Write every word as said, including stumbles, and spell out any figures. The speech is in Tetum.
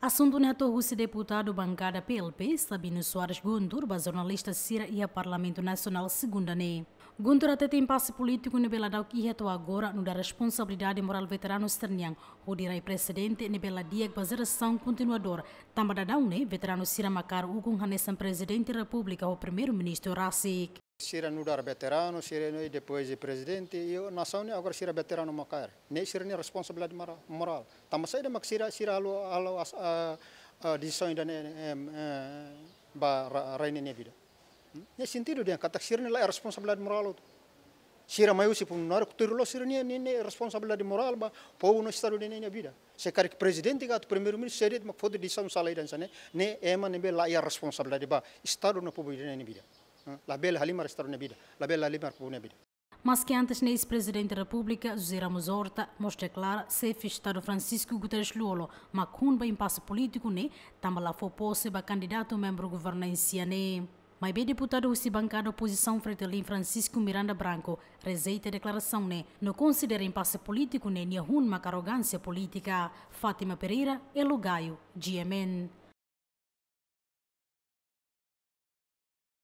Asuntu ne'e hato'o husi deputadu bankada P L P, Sabino Soares Guntur, ba jornalista sira iha Parlamentu Nasionál, segunda ne'e. Guntur hatete impase polítiku ne'ebé ladauk iha to'o agora nu'udar responsabilidade morál veteranu sira-nian, hodi rai prezidente ne'ebé la di'ak ba jerasaun kontinuadór, tanba daudaun ne'e veteranu sira mak kaer ukun hanesan Prezidente Repúblika ho Primeiru-Ministru rasik. Sira nu'udar veteranu, sira ne'e depois de prezidente, i nasaun ne'e agora sira veteranu mak kaer. Ne'e sira-nia responsabilidade mora-, morál. Tanba saida mak sira, sira halo, halo as-, a, a, desizaun ida-ne'e, em, eh, ba ra-, rai ne'e nia vida. Hmm? Ne'e sentidu dehan katak sira-nia la'ós responsabilidade morál hotu. Sira mai husi funsionáriu, tuir loloos sira-nia, nia, nia responsabilidade morál ba povu no estadu ida-ne'e nia vida. Se karik prezidente ka atu primeiru-ministru, se de'it mak foti desizaun sala ida hanesan ne'e, ne'e ema ne'ebé la iha responsabilidade ba estadu no povu ida-ne'e nia vida. Hmm? Labele halimar estadu nia vida, labele halimar povu nia vida. Maske antes ne'e eis-Prezidente Repúblika José Ramos Horta mós deklara xefe Estadu Francisco Guterres Lú-Olo mak hun ba impase polítiku ne'e, tanba la fó pose ba kandidatu membru governansia ne'e. Maibé deputadu husi bankada opozisaun Fretilin, Francisco Miranda Branco, rejeita deklarasaun ne'e, no konsidera impase polítiku ne'e nia hun mak arrogánsia polítika. Fátima Pereira, Elo Gayo, G M N.